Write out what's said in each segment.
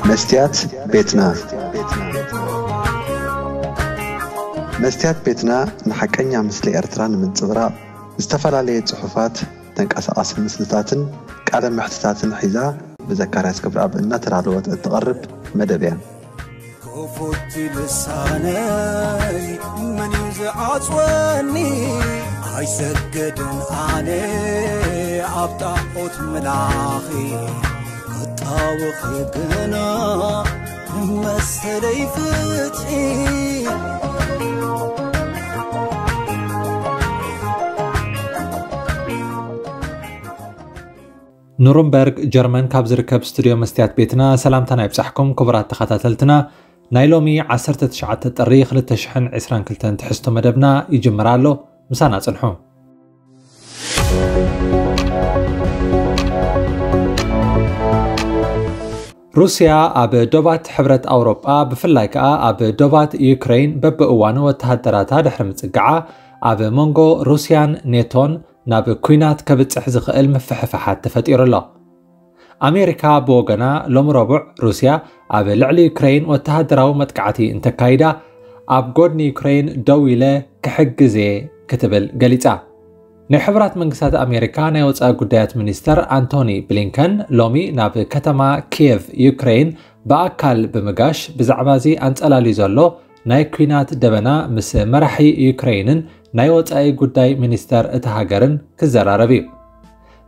መስትያት ቤትና። መስትያት ቤትና ንሓቀኛ ምስሊ ኤርትራ ንምንጽብራቕ ዝተፈላለየ ጽሑፋት፣ ተንቀሳቓሲ ምስልታትን ቃለ መሕትታትን ሒዛ ብዘካርያስ ገብረኣብ እናተዳለወት እትቐርብ መደብ እያ። ክፉት ልሳነይ መን እዩ ዝዓጽወኒ? ኣይሰግድን ኣነ ኣብ ጣዖት ምላኺ፣ ክጣወኺ ግና መሰለይ ፍትሒ። ኑርንበርግ ጀርመን ካብ ዝርከብ ስቱድዮ መስትያት ቤትና ሰላምታና ይብጻሕኩም ክቡራት ተኸታተልትና። ናይ ሎሚ ዓሰርተ ትሽዓተ ጥሪ ክልተ ሽሕን ዕስራን ክልተን ትሕዝቶ መደብና ይጅምር ኣሎ። ምሳና ጽንሑ። ሩስያ ኣብ ዶባት ሕብረት ኣውሮጳ፣ ብፍላይ ከኣ ኣብ ዶባት ዩክሬን በብእዋኑ ወተሃደራታ ድሕሪ ምጽግዓ፣ ኣብ መንጎ ሩስያን ኔቶን ናብ ኲናት ከብጽሕ ዝኽእል ምፍሕፋሓት ተፈጢሩ ኣሎ። ኣሜሪካ ብወገና፣ ሎሚ ረቡዕ ሩስያ ኣብ ልዕሊ ዩክሬን ወተሃደራዊ መጥቃዕቲ እንተካይዳ፣ ኣብ ጎድኒ ዩክሬን ደው ኢለ ክሕግዝ እየ ክትብል ገሊጻ። ናይ ሕቡራት መንግስታት ኣሜሪካ ናይ ወጻኢ ጉዳያት ሚኒስተር ኣንቶኒ ብሊንከን ሎሚ ናብ ከተማ ኪየቭ ዩክሬን ብኣካል ብምጋሽ፣ ብዛዕባ እዚ ኣንጸላልዩ ዘሎ ናይ ኲናት ደበና ምስ መራሒ ዩክሬንን ናይ ወጻኢ ጉዳይ ሚኒስተር እታ ሃገርን ክዘራረብ እዩ።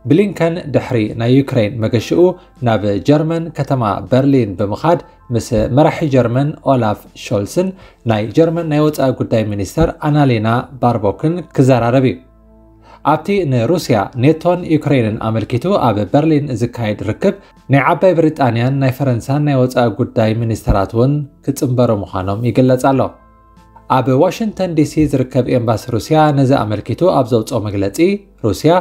ብሊንከን ድሕሪ ናይ ዩክሬን መገሽኡ ናብ ጀርመን ከተማ በርሊን ብምኻድ ምስ መራሒ ጀርመን ኦላፍ ሾልስን ናይ ጀርመን ናይ ወጻኢ ጉዳይ ሚኒስተር ኣናሌና ባርቦክን ክዘራረብ እዩ። ኣብቲ ንሩስያ፣ ኔቶን ዩክሬንን ኣመልኪቱ ኣብ በርሊን ዝካየድ ርክብ፣ ናይ ዓባይ ብሪጣንያን ናይ ፈረንሳን ናይ ወጻኢ ጉዳይ ሚኒስተራት እውን ክጽንበሩ ምዃኖም ይግለጽ ኣሎ። ኣብ ዋሽንግተን ዲሲ ዝርከብ ኤምባሲ ሩስያ ነዚ ኣመልኪቱ ኣብ ዘውጽኦ መግለጺ፣ ሩስያ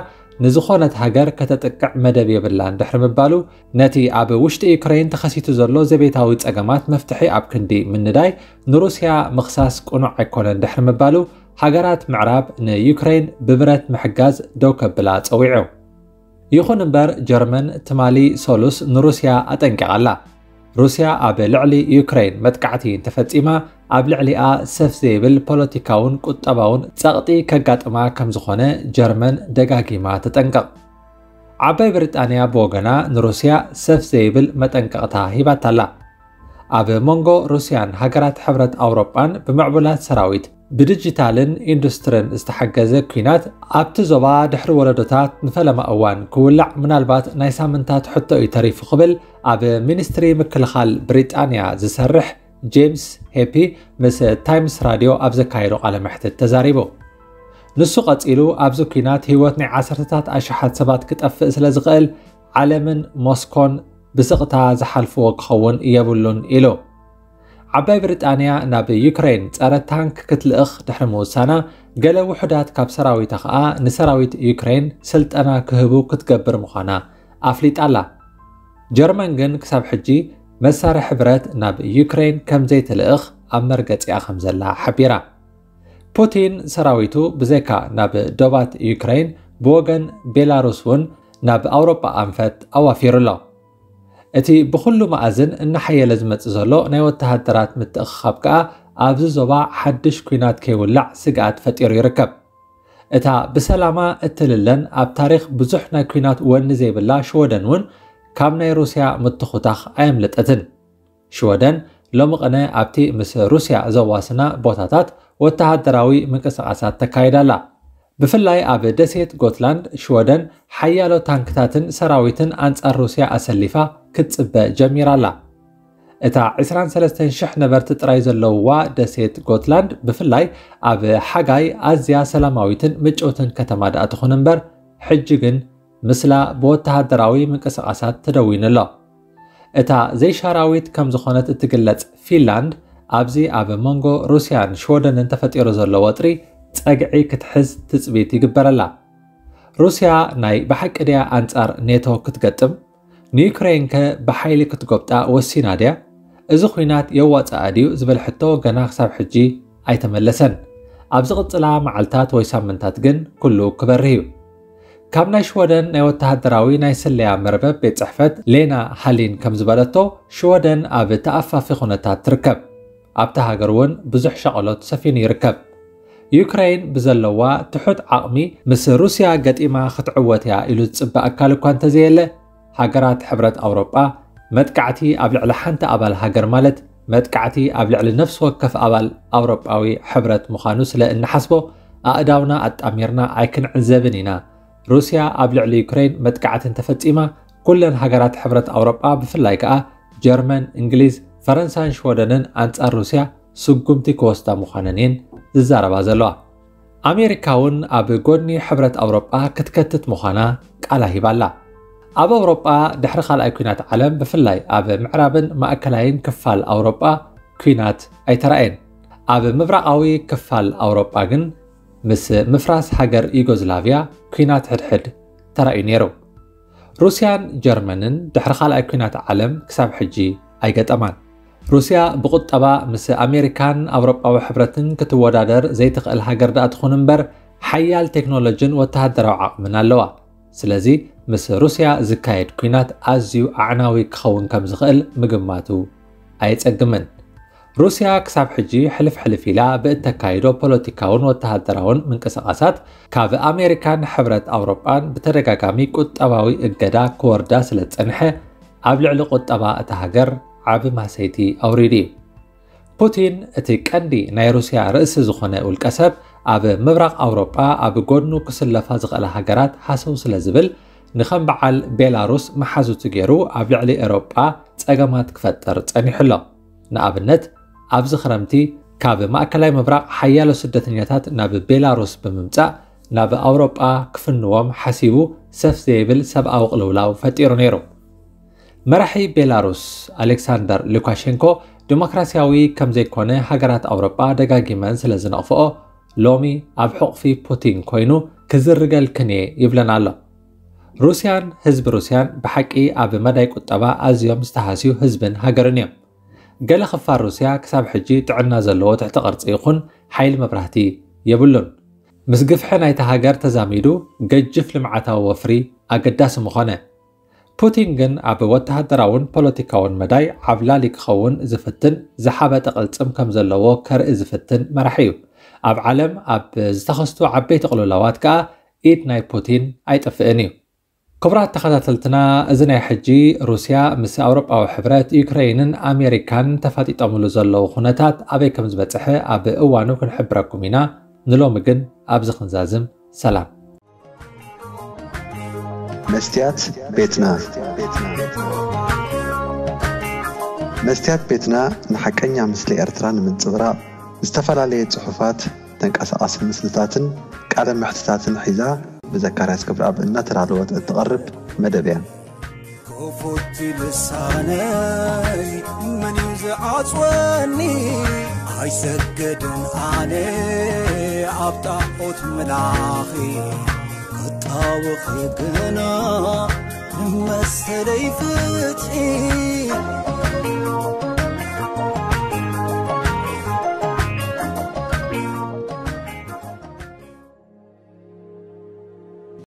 ንዝኾነት ሃገር ከተጥቅዕ መደብ የብላን ድሕሪ ምባሉ፣ ነቲ ኣብ ውሽጢ ዩክሬን ተኸሲቱ ዘሎ ዘቤታዊ ጸገማት መፍትሒ ኣብ ክንዲ ምንዳይ ንሩስያ ምኽሳስ ቅኑዕ ኣይኮነን ድሕሪ ምባሉ፣ ሃገራት ምዕራብ ንዩክሬን ብብረት ምሕጋዝ ደው ከብላ ጸዊዑ። ይኹን እምበር፣ ጀርመን ትማሊ ሰሉስ ንሩስያ ኣጠንቂቓ ኣላ። ሩስያ ኣብ ልዕሊ ዩክሬን መጥቃዕቲ እንተፈጺማ፣ ኣብ ልዕሊኣ ሰፍ ዘይብል ፖለቲካውን ቁጠባውን ጸቕጢ ከጋጥማ ከም ዝኾነ ጀርመን ደጋጊማ ተጠንቅቕ። ዓባይ ብሪጣንያ ብወገና ንሩስያ ሰፍ ዘይብል መጠንቀቕታ ሂባታ ኣላ። ኣብ መንጎ ሩስያን ሃገራት ሕብረት ኣውሮጳን ብምዕቡላት ሰራዊት፣ ብዲጂታልን ኢንዱስትርን ዝተሓገዘ ኲናት ኣብቲ ዞባ ድሕሪ ወለዶታት ንፈለማ እዋን ክውላዕ ምናልባት ናይ ሳምንታት ሕቶ እዩ ተሪፉ ክብል ኣብ ሚኒስትሪ ምክልኻል ብሪጣንያ ዝሰርሕ ጄምስ ሄፒ ምስ ታይምስ ራድዮ ኣብ ዘካየዶ ቃለ መሕትት ተዛሪቡ። ንሱ ቀጺሉ፣ ኣብዚ ኲናት ህይወት ናይ ዓሰርተታት ኣሽሓት ሰባት ክጠፍእ ስለ ዝኽእል፣ ዓለምን ሞስኮን ብስቕታ ዝሓልፍዎ ክኸውን የብሉን ኢሉ። ዓባይ ብሪጣንያ ናብ ዩክሬን ጸረ ታንክ ክትልእኽ ድሕሪ ምውሳና፣ ገለ ውሑዳት ካብ ሰራዊታ ከኣ ንሰራዊት ዩክሬን ስልጠና ክህቡ ክትገብር ምዃና ኣፍሊጣ ኣላ። ጀርመን ግን ክሳብ ሕጂ መሳርሒ ብረት ናብ ዩክሬን ከም ዘይትልእኽ ኣብ መርገጺኣ ከም ዘላ ሓቢራ። ፑቲን ሰራዊቱ ብዘይካ ናብ ዶባት ዩክሬን፣ ብወገን ቤላሩስ እውን ናብ ኣውሮጳ ኣንፈት ኣዋፊሩ ኣሎ። እቲ ብኹሉ መኣዝን እናሓየለ ዝመጽእ ዘሎ ናይ ወተሃደራት ምትእኽኻብ ከኣ ኣብዚ ዞባ ሓድሽ ኲናት ከይውላዕ ስግኣት ፈጢሩ ይርከብ። እታ ብሰላማ እትልለን ኣብ ታሪኽ ብዙሕ ናይ ኲናት ወኒ ዘይብላ ሽወደን እውን ካብ ናይ ሩስያ ምትኹታኽ ኣየምለጠትን። ሽወደን ሎሚ ቅነ ኣብቲ ምስ ሩስያ ዘዋስና ቦታታት ወተሃደራዊ ምንቅስቓሳት ተካይድ ኣላ። ብፍላይ ኣብ ደሴት ጎትላንድ ሽወደን ሓያሎ ታንክታትን ሰራዊትን ኣንጻር ሩስያ ኣሰሊፋ ክትጽበ ጀሚራ ኣላ። እታ ዕስራን ሰለስተን ሽሕ ነበርቲ ጥራይ ዘለውዋ ደሴት ጎትላንድ ብፍላይ ኣብ ሓጋይ ኣዝያ ሰላማዊትን ምጭውትን ከተማ ደኣ ትኹን እምበር፣ ሕጂ ግን ምስላ ብወተሃደራዊ ምንቅስቓሳት ተደዊኑ ኣሎ። እታ ዘይሻራዊት ከም ዝኾነት እትግለጽ ፊንላንድ፣ ኣብዚ ኣብ መንጎ ሩስያን ሽወደንን ተፈጢሩ ዘሎ ወጥሪ ጸግዒ ክትሕዝ ትጽቢት ይግበረላ። ሩስያ ናይ ብሓቂ ድያ ኣንጻር ኔቶ ክትገጥም? ንዩክሬንከ ብሓይሊ ክትጎብጣ ወሲና ድያ? እዚ ኲናት የዋጽኣ ድዩ ዝብል ሕቶ ገና ክሳብ ሕጂ ኣይተመለሰን። ኣብ ዝቕጽላ መዓልታት ወይ ሳምንታት ግን ኩሉ ክበርህ እዩ። ካብ ናይ ሽወደን ናይ ወተሃደራዊ ናይ ስለያ መርበብ ቤት ጽሕፈት ሌና ሃሊን ከም ዝበለቶ፣ ሽወደን ኣብ ተኣፋፊ ኩነታት ትርከብ። ኣብታ ሃገር እውን ብዙሕ ሻቕሎት ሰፊኑ ይርከብ። ዩክሬን ብዘለዋ ትሑት ዓቕሚ ምስ ሩስያ ገጢማ ክትዕወት እያ ኢሉ ዝጽበ ኣካል እኳ እንተዘየለ፣ ሃገራት ሕብረት ኣውሮጳ መጥቃዕቲ ኣብ ልዕሊ ሓንቲ ኣባል ሃገር ማለት መጥቃዕቲ ኣብ ልዕሊ ነፍሲ ወከፍ ኣባል ኣውሮጳዊ ሕብረት ምዃኑ ስለ እንሓስቦ፣ ኣእዳውና ኣጣሚርና ኣይክንዕዘብን ኢና። ሩስያ ኣብ ልዕሊ ዩክሬን መጥቃዕቲ እንተፈጺማ፣ ኩለን ሃገራት ሕብረት ኣውሮጳ፣ ብፍላይ ከኣ ጀርመን፣ እንግሊዝ፣ ፈረንሳን ሽወደንን ኣንጻር ሩስያ ስጉምቲ ክወስዳ ምዃነን እየን ዝዛረባ ዘለዋ። ኣሜሪካ እውን ኣብ ጎድኒ ሕብረት ኣውሮጳ ክትከትት ምዃና ቃላ ሂባ ኣላ። ኣብ ኣውሮጳ ድሕሪ ካልኣይ ኲናት ዓለም፣ ብፍላይ ኣብ ምዕራብን ማእከላይን ክፋል ኣውሮጳ ኲናት ኣይተራእየን። ኣብ ምብራቓዊ ክፋል ኣውሮጳ ግን ምስ ምፍራስ ሃገር ዩጎዝላቭያ ኲናት ሕድሕድ ተራእዩ ነይሩ። ሩስያን ጀርመንን ድሕሪ ካልኣይ ኲናት ዓለም ክሳብ ሕጂ ኣይገጠማን። ሩስያ ብቁጠባ ምስ ኣሜሪካን ኣውሮጳዊ ሕብረትን ክትወዳደር ዘይትኽእል ሃገር ደኣ ትኹን እምበር፣ ሓያል ቴክኖሎጂን ወተሃደራዊ ዓቕምን ኣለዋ። ስለዚ ምስ ሩስያ ዝካየድ ኲናት ኣዝዩ ኣዕናዊ ክኸውን ከም ዝኽእል ምግማቱ ኣየጸግምን። ሩስያ ክሳብ ሕጂ ሕልፍ ሕልፍ ኢላ ብእተካይዶ ፖለቲካውን ወተሃደራውን ምንቅስቓሳት፣ ካብ ኣሜሪካን ሕብረት ኣውሮጳን ብተደጋጋሚ ቁጠባዊ እገዳ ክወርዳ ስለ ዝጸንሐ፣ ኣብ ልዕሊ ቁጠባ እታ ሃገር ዓቢ ማሰይቲ ኣውሪዱ እዩ። ፑቲን፣ እቲ ቀንዲ ናይ ሩስያ ርእሲ ዝኾነ ውልቀሰብ፣ ኣብ ምብራቕ ኣውሮጳ ኣብ ጎድኑ ክስለፋ ዝኽእላ ሃገራት ሃሰው ስለ ዝብል፣ ንኸም በዓል ቤላሩስ መሓዙቱ ገይሩ ኣብ ልዕሊ ኤውሮጳ ጸገማት ክፈጥር ጸኒሑ ኣሎ። ንኣብነት፣ ኣብዚ ክረምቲ ካብ ማእከላይ ምብራቕ ሓያሎ ስደተኛታት ናብ ቤላሩስ ብምምጻእ፣ ናብ ኣውሮጳ ክፍንዎም ሓሲቡ ሰፍ ዘይብል ሰብኣዊ ቅልውላው ፈጢሩ ነይሩ። መራሒ ቤላሩስ ኣሌክሳንደር ሉካሼንኮ፣ ዲሞክራሲያዊ ከም ዘይኮነ ሃገራት ኣውሮጳ ደጋጊመን ስለ ዝነቕፍኦ፣ ሎሚ ኣብ ሕቑፊ ፑቲን ኮይኑ ክዝርገልክን እየ ይብለን ኣሎ። ሩስያን ህዝቢ ሩስያን ብሓቂ ኣብ መዳይ ቁጠባ ኣዝዮም ዝተሃስዩ ህዝብን ሃገርን እዮም። ገለ ክፋል ሩስያ ክሳብ ሕጂ ጥዕና ዘለዎ ትሕቲ ቅርጺ ይኹን ሓይሊ መብራህቲ የብሉን። ምስ ግፍሒ ናይታ ሃገር ተዛሚዱ ገጅፍ ልምዓታዊ ወፍሪ ኣገዳሲ ምኾነ። ፑቲን ግን ኣብ ወተሃደራውን ፖለቲካውን መዳይ ዓብላሊ ክኸውን ዝፍትን ዝሓበጠ ቅልጽም ከም ዘለዎ ከርኢ ዝፍትን መራሒ እዩ። ኣብ ዓለም ኣብ ዝተኸስቱ ዓበይቲ ቅልውላዋት ከኣ ኢድ ናይ ፑቲን ኣይጠፍእን እዩ። ክቡራት ተኸታተልትና፣ እዚ ናይ ሕጂ ሩስያ ምስ ኣውሮጳዊ ሕብረት፣ ዩክረይንን ኣሜሪካን ተፋጢጦምሉ ዘለዉ ኩነታት ኣበይ ከም ዝበጽሐ ኣብ እዋኑ ክንሕብረኩም ኢና። ንሎሚ ግን ኣብዚ ክንዛዝም። ሰላም። መስትያት ቤትና። መስትያት ቤትና ንሓቀኛ ምስሊ ኤርትራ ንምንጽብራቕ ዝተፈላለየ ጽሑፋት፣ ተንቀሳቓሲ ምስልታትን ቃለ መሕትታትን ሒዛ ብዘካርያስ ገብረኣብ እናተዳለወት እትቐርብ መደብ እያ። ክፉት ልሳነይ መን እዩ ዝዓጽወኒ? ኣይሰግድን ኣነ ኣብ ጣዖት ምላኺ፣ ክጣወኺ ግና መሰለይ ፍትሒ።